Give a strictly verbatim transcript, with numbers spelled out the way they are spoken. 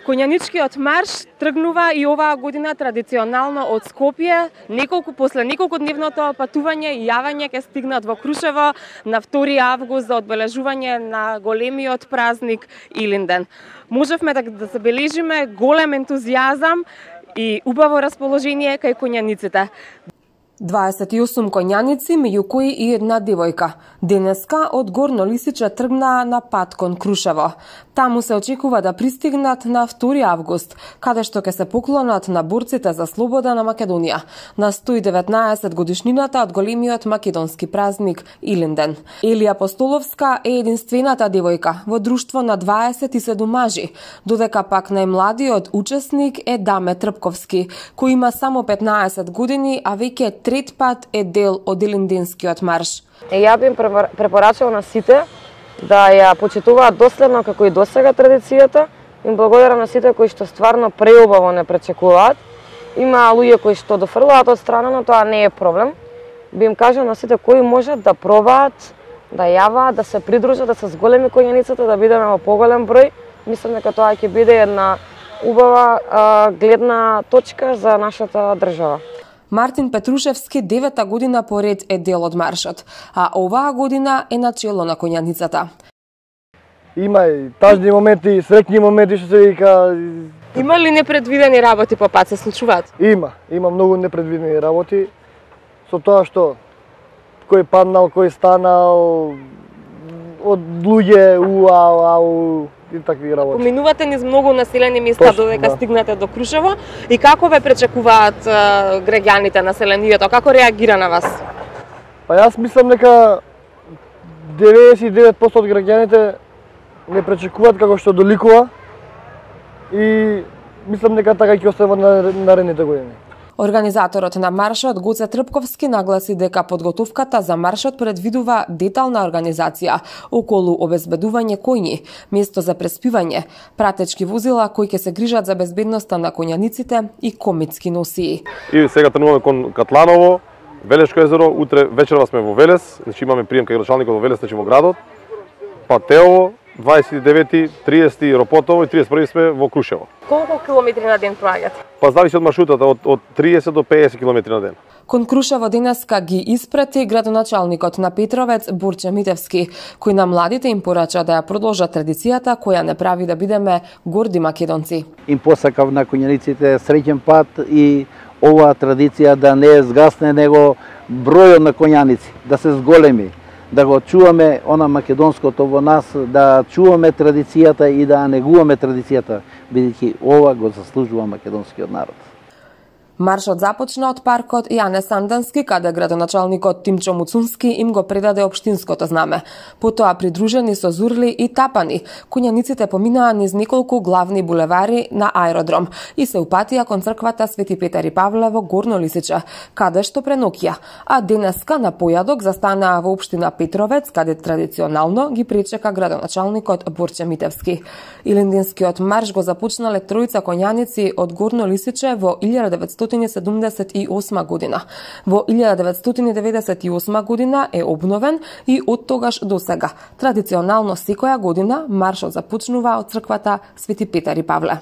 Коњаничкиот марш тргнува и оваа година традиционално од Скопје. Неколку после неколку дневното патување и јавање ќе стигнат во Крушево на втори август за одбележување на големиот празник Илинден. Можевме да, да забележиме голем ентузијазам и убаво расположение кај коњаниците. дваесет и осум коњаници, меѓу кои и една девојка. Денеска од Горно Лисиче тргнаа на пат кон Крушево. Таму се очекува да пристигнат на втори август, каде што ќе се поклонат на борците за слобода на Македонија, на сто и деветнаесет годишнината од големиот македонски празник Илинден. Елија Постоловска е единствената девојка во друштво на дваесет и седум мажи, додека пак најмладиот учесник е Даме Трпковски, кој има само петнаесет години, а веќе трет пат е дел од Илинденскиот марш. Ја би им препорачал на сите да ја почитуваат доследно како и досега традицијата. Им благодарам на сите кои што стварно преубаво не пречекуваат. Има луѓе кои што дофрлаат од страна, но тоа не е проблем. Би им кажал на сите кои можат да пробаат, да јаваат, да се придружат, да се зголеми коњаницата, да бидеме во поголем број. Мислам дека тоа ќе биде една убава а, гледна точка за нашата држава. Мартин Петрушевски девета година поред е дел од маршот, а оваа година е начело на коњаницата. Има и тажни моменти, среќни моменти, што се вика. Има ли непредвидени работи по пат се случуваат? Има, има многу непредвидени работи. Со тоа што кој паднал, кој станал, од луѓе, уау, ау, и такви работи. Поминувате низ многу населени места додека да. стигнете до Крушево и како ве пречекуваат uh, граѓаните, населението, како реагира на вас? Па јас мислам дека деветдесет и девет проценти од граѓаните не пречекуваат како што доликува и мислам дека така ќе остава на наредните години. Организаторот на маршот Гоце Трпковски нагласи дека подготовката за маршот предвидува детална организација околу обезбедување коњи, место за преспивање, пратечки возила кои ќе се грижат за безбедноста на коњаниците и комитски носии. И сега тргнуваме кон Катланово, Велешко езеро, утре вечерва сме во Велес, значи имаме прием кај градоначалникот во Велес, значи во градот. Па Теово, дваесет и девети, триесети Ропотово и триесет и први сме во Крушево. Колку километри на ден проаѓате? Па зависи од маршрутата, од, од триесет до пеесет километри на ден. Кон Крушево денеска ги испрати градоначалникот на Петровец Борче Митевски, кој на младите им порача да ја продолжат традицијата која не прави да бидеме горди македонци. Им посакав на коњаниците среќен пат и оваа традиција да не згасне, него бројот на коњаници да се зголеми, да го чуваме она македонското во нас, да чуваме традицијата и да негуваме традицијата, бидејќи ова го заслужува македонскиот народ. Маршот започна од паркот Јане Сандански, каде градоначалникот Тимчо Муцунски им го предаде општинското знаме. Потоа придружени со зурли и тапани, коњаниците поминаа низ неколку главни булевари на аеродром и се упатија кон црквата Свети Петар и Павле во Горно Лисиче, каде што преноќија. А денеска на појадок застанаа во општина Петровец, каде традиционално ги пречека градоначалникот Борче Митевски. Илинденскиот марш го започнале тројца коњаници од Горно Лисиче во илјада деветстотини седумдесет и осма година. Во илјада деветстотини деветдесет и осма година е обновен и од тогаш до сега. Традиционално секоја година маршот започнува од црквата Свети Петар и Павле.